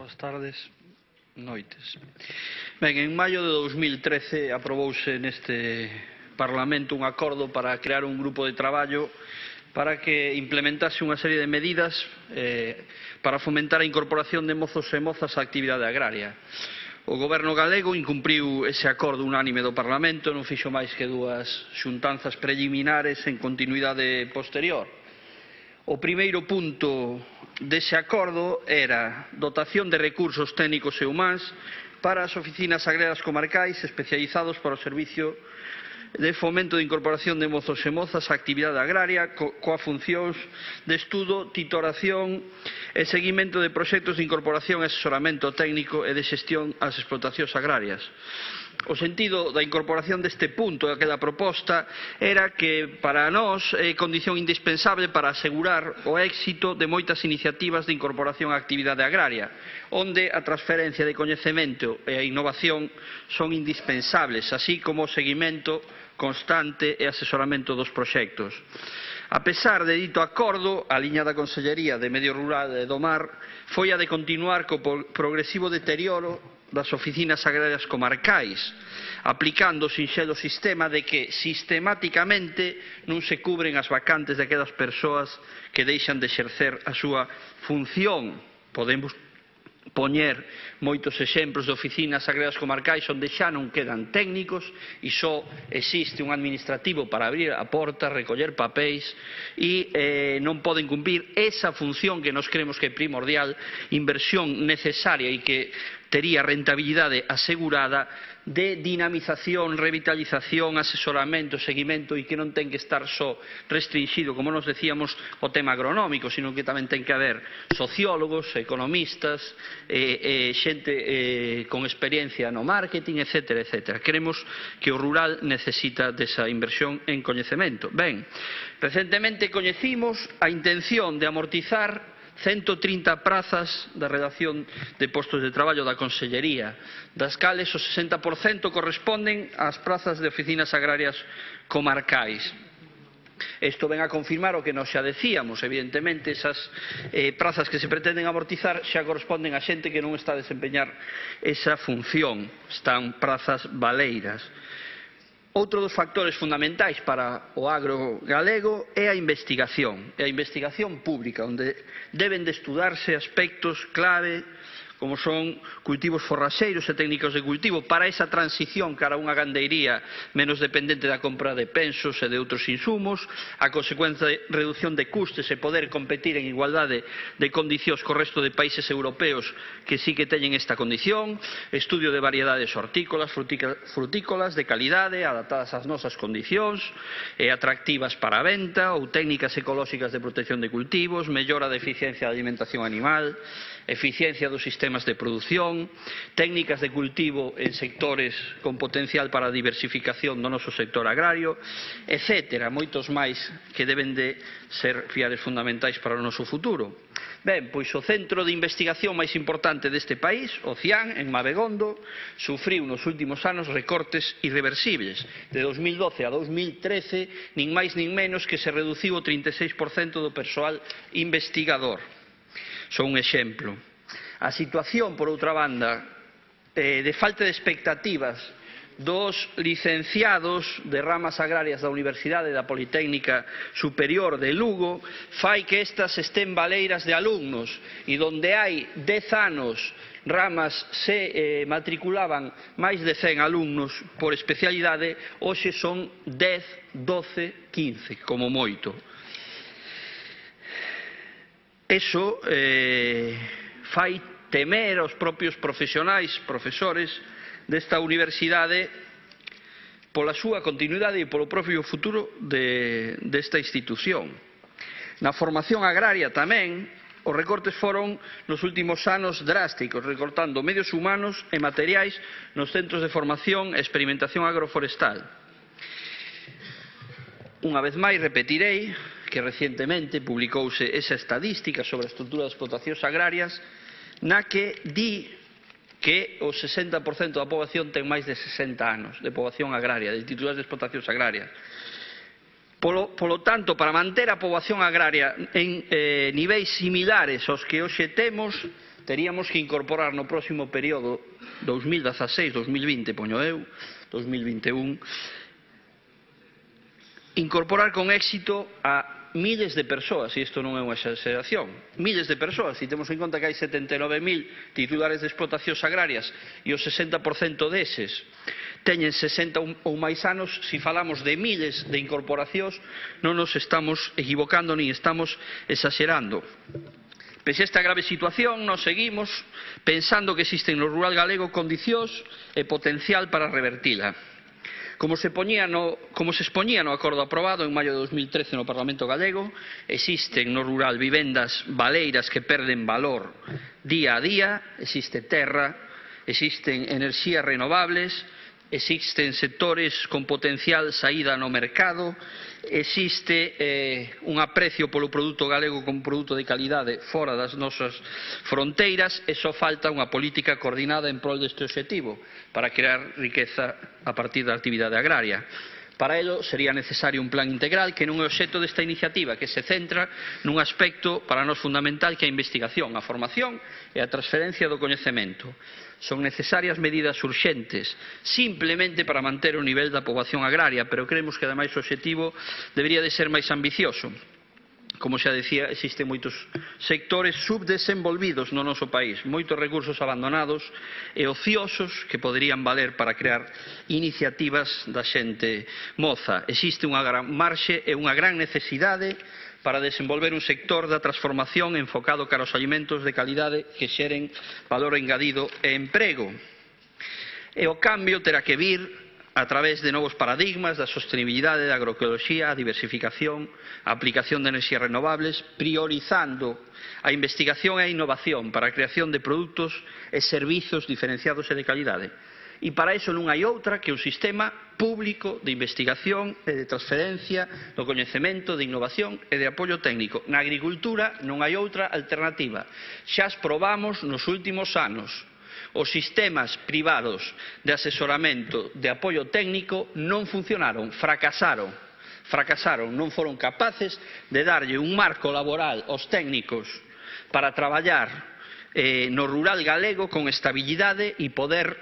boas tardes, noites. Ben, en maio de 2013 aprobouse neste Parlamento un acordo para crear un grupo de traballo para que implementase unha serie de medidas para fomentar a incorporación de mozos e mozas á actividade agraria. O Goberno galego incumpriu ese acordo unánime do Parlamento, non fixo máis que dúas xuntanzas preliminares en continuidade posterior. O primeiro punto dese acordo era dotación de recursos técnicos e humáns para as oficinas agrarias comarcais especializados para o servicio de fomento de incorporación de mozos e mozas á actividade agraria coa funcións de estudo, titoración e seguimento de proxectos de incorporación e asesoramento técnico e de xestión ás explotacións agrarias. O sentido da incorporación deste punto daquela proposta era que para nós é condición indispensable para asegurar o éxito de moitas iniciativas de incorporación á actividade agraria, onde a transferencia de coñecemento e a innovación son indispensables, así como o seguimento constante e asesoramento dos proxectos. A pesar de dito acordo, a liña da Consellería de Medio Rural e do Mar foi a de continuar co progresivo deterioro das oficinas agrarias comarcais, aplicando o sinxelo sistema de que sistematicamente non se cubren as vacantes daquelas persoas que deixan de exercer a súa función. Podemos poñer moitos exemplos de oficinas agrarias comarcais onde xa non quedan técnicos e só existe un administrativo para abrir a porta, recoller papéis e non poden cumprir esa función que nos creemos que é primordial, inversión necesaria e que tería rentabilidade asegurada de dinamización, revitalización, asesoramento, seguimento e que non ten que estar só restringido, como nos decíamos, o tema agronómico, sino que tamén ten que haber sociólogos, economistas, xente con experiencia no marketing, etc. etc. Creemos que o rural necesita desa inversión en coñecemento. Ben, recentemente coñecimos a intención de amortizar 130 prazas da redacción de postos de traballo da Consellería, das cales o 60% corresponden ás prazas de oficinas agrarias comarcais. Isto ven a confirmar o que nos xa decíamos, evidentemente esas prazas que se pretenden amortizar xa corresponden a xente que non está a desempeñar esa función, están prazas baleiras. Outro dos factores fundamentais para o agro galego é a investigación pública, onde deben de estudarse aspectos clave como son cultivos forraxeiros e técnicas de cultivo para esa transición cara a unha gandeiría menos dependente da compra de pensos e de outros insumos, a consecuencia de reducción de custes e poder competir en igualdade de condicións co resto de países europeos que sí que teñen esta condición, estudio de variedades hortícolas, frutícolas de calidade adaptadas ás nosas condicións e atractivas para a venta ou técnicas ecolóxicas de protección de cultivos, mellora da eficiencia da alimentación animal, eficiencia dos sistemas de produción, técnicas de cultivo en sectores con potencial para a diversificación do noso sector agrario, etc. Moitos máis que deben de ser piares fundamentais para o noso futuro. Ben, pois o centro de investigación máis importante deste país, o CIAN, en Mabegondo, sufriu nos últimos anos recortes irreversibles. De 2012 a 2013, nin máis nin menos que se reduciu o 36% do persoal investigador. Son un exemplo. A situación, por outra banda, de falta de expectativas dos licenciados de ramas agrarias da Universidade da Politécnica Superior de Lugo fai que estas estén baleiras de alumnos e donde hai 10 anos ramas se matriculaban máis de 100 alumnos por especialidade, hoxe son 10, 12, 15, como moito. Eso fai temer aos propios profesionais, profesores desta universidade pola súa continuidade e polo propio futuro desta institución. Na formación agraria tamén os recortes foron nos últimos anos drásticos, recortando medios humanos e materiais nos centros de formación e experimentación agroforestal. Unha vez máis repetirei que recientemente publicouse esa estadística sobre a estrutura das explotacións agrarias na que di que o 60% da poboación ten máis de 60 anos de poboación agraria, de titulares de explotacións agrarias. Polo tanto, para manter a poboación agraria en niveis similares aos que hoxe temos, teríamos que incorporar no próximo período 2016-2020, poño eu, 2021, incorporar con éxito a miles de persoas, e isto non é unha exageración, miles de persoas, se temos en conta que hai 79.000 titulares de explotacións agrarias e o 60% deses teñen 60 ou máis anos, se falamos de miles de incorporacións non nos estamos equivocando ni estamos exagerando. Pese a esta grave situación, nos seguimos pensando que existen no rural galego condicións e potencial para revertila. Como se expoñía no acordo aprobado en maio de 2013 no Parlamento galego, existen no rural vivendas baleiras que perden valor día a día, existe terra, existen enerxías renovables, existen sectores con potencial saída no mercado, existe un aprecio polo produto galego como produto de calidade fora das nosas fronteiras e só falta unha política coordinada en prol deste obxectivo para crear riqueza a partir da actividade agraria. Para ello sería necesario un plan integral que non é o obxecto desta iniciativa, que se centra nun aspecto para nós fundamental que é a investigación, a formación e a transferencia do coñecemento. Son necesarias medidas urxentes, simplemente para manter o nivel da poboación agraria, pero creemos que ademais o obxectivo debería de ser máis ambicioso. Como xa decía, existen moitos sectores subdesenvolvidos no noso país, moitos recursos abandonados e ociosos que poderían valer para crear iniciativas da xente moza. Existe unha gran marxe e unha gran necesidade para desenvolver un sector da transformación enfocado cara aos alimentos de calidade que xeren valor engadido e emprego. E o cambio terá que vir a través de novos paradigmas da sostenibilidade, da agroecoloxía, a diversificación, a aplicación de enerxías renovables, priorizando a investigación e a innovación para a creación de produtos e servizos diferenciados e de calidade. E para iso non hai outra que un sistema público de investigación e de transferencia do coñecemento, de innovación e de apoio técnico. Na agricultura non hai outra alternativa. Xa as probamos nos últimos anos. Os sistemas privados de asesoramento, de apoio técnico non funcionaron, fracasaron, non foron capaces de darlle un marco laboral aos técnicos para traballar no rural galego con estabilidade e poder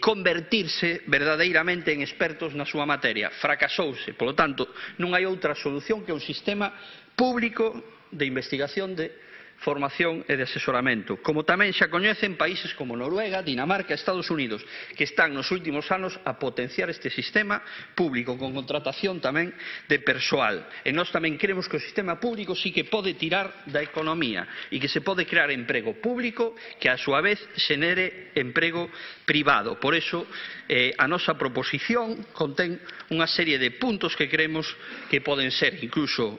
convertirse verdadeiramente en expertos na súa materia. Fracasouse, polo tanto, non hai outra solución que un sistema público de investigación, de formación e de asesoramento, como tamén xa coñecen países como Noruega, Dinamarca e Estados Unidos, que están nos últimos anos a potenciar este sistema público con contratación tamén de persoal. E nós tamén creemos que o sistema público sí que pode tirar da economía e que se pode crear emprego público que a súa vez xenere emprego privado. Por iso a nosa proposición contén unha serie de puntos que creemos que poden ser incluso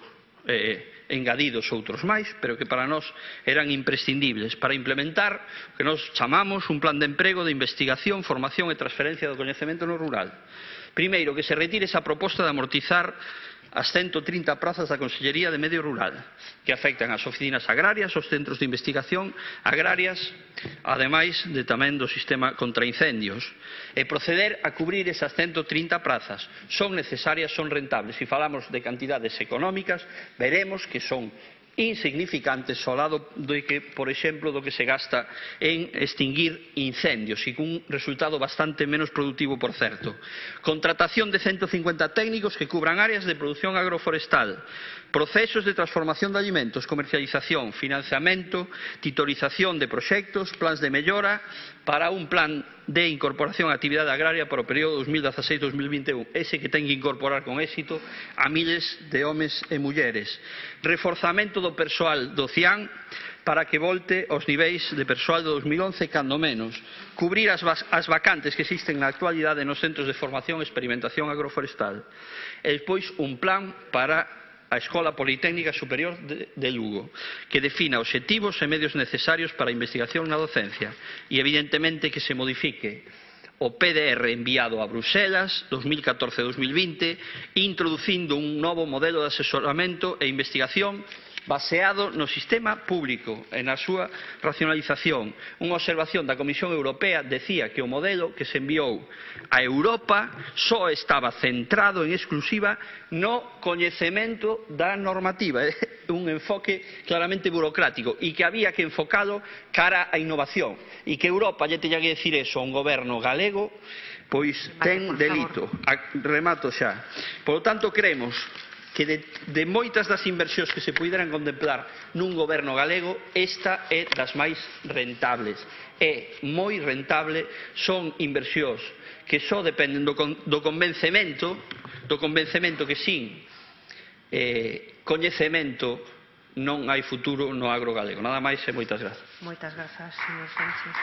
engadidos outros máis, pero que para nós eran imprescindibles para implementar o que nós chamamos un plan de emprego, de investigación, formación e transferencia do coñecemento no rural. Primeiro, que se retire esa proposta de amortizar as 130 prazas da Consellería de Medio Rural, que afectan as oficinas agrarias, os centros de investigación agrarias, ademais de tamén do sistema contra incendios, e proceder a cubrir esas 130 prazas. Son necesarias, son rentables. Se falamos de cantidades económicas, veremos que son insignificantes ao lado de que, por exemplo, do que se gasta en extinguir incendios e cun resultado bastante menos productivo, por certo. Contratación de 150 técnicos que cubran áreas de produción agroforestal, procesos de transformación de alimentos, comercialización, financiamento, titorización de proxectos, plans de mellora para un plan de incorporación á actividade agraria para o período 2016-2021, ese que ten que incorporar con éxito a miles de homes e mulleres. Reforzamento do persoal do CIAN para que volte aos niveis de persoal de 2011 cando menos. Cubrir as vacantes que existen na actualidade nos centros de formación e experimentación agroforestal. E despois un plan para a Escola Politécnica Superior de Lugo, que defina obxectivos e medios necesarios para a investigación na docencia e, evidentemente, que se modifique o PDR enviado a Bruselas 2014-2020, introducindo un novo modelo de asesoramento e investigación baseado no sistema público e na súa racionalización. Unha observación da Comisión Europea decía que o modelo que se enviou a Europa só estaba centrado en exclusiva no coñecemento da normativa, un enfoque claramente burocrático, e que había que enfocalo cara á innovación, e que Europa lle teña que decir eso a un goberno galego, pois ten delito. Remato xa. Por lo tanto, creemos que de moitas das inversións que se puideran contemplar nun goberno galego, esta é das máis rentables. É moi rentable, son inversións que só dependen do convencemento que sin coñecemento non hai futuro no agro galego. Nada máis e moitas grazas. Moitas grazas, señor Sánchez.